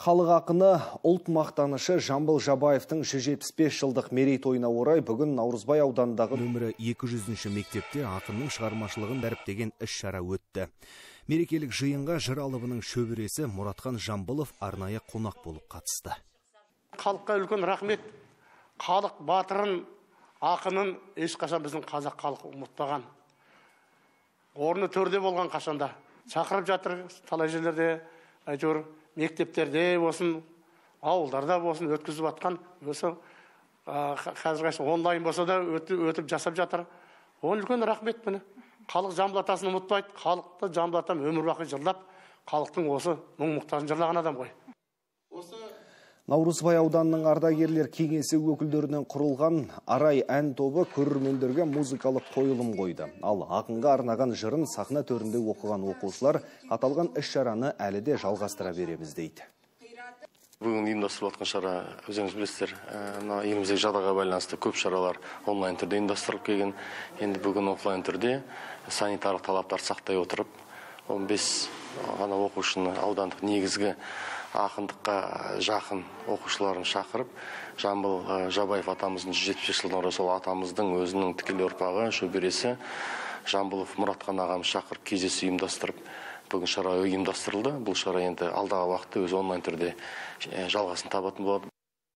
Халық ақыны ұлт мақтанышы Жамбыл Жабаевтың 175 жылдық мерейтойына орай бүгін Наурызбай ауданындағы нөмірі 200-ші мектепте ақынның шығармашылығын дәріптеген іс-шара өтті. Мерекелік жиынға жыр алыбының шөбересі Мұратхан Жамбылов арнайы қонақ болып қатысты. Халыққа үлкен рахмет. Халық батырын, ақынын ешқашан біздің қазақ халқы ұмытпаған. Орны төрде болған қашанда. Шақырып жатыр талай жерлерде, әйтеуір мектептерде болсын, ауылдарда болсын өткізіп атқан. Осы қазір онлайн болса да өтіп жасап жатыр. Оның үлкен рахмет міне. Халық Жамбыл атасын ұмытпайды. Халықты Жамбыл атам өмір бақи жырлап, халықтың осы мұң-мұқтажын жырлаған адам ғой. Наурызбай ауданының ардагерлер кеңесі өкілдерінен құрылған Арай ән тобы көрермендерге музыкалық қойылым қойды. Ал ақынға арнаған жырын сахна төрінде оқыған оқушылар аталған іс-шараны әлі де жалғастыра береміз дейді. Бүгін ұйымдастырылып жатқан шара, өзіңіз білесіздер, еліміздегі жағдайға байланысты көп шаралар онлайн түрде ұйымдастырылып келген. Енді бүгін офлайн түрде санитарлық талаптар сақтай отырып, 15 ғана оқушыны аудандық негізгі ақындыққа жақын оқушыларын шақырып, Жамбыл Жабаев атамыздың 175 жылдың орай сол атамыздың өзінің тікелей ұрпағы, шөбересі Жамбылов Мұратхан ағамыз шақырып кездесу ұйымдастырып, бүгін шара ұйымдастырылды. Бұл шара енді алдағы уақытта өз онлайн түрде жалғасын табатын болады.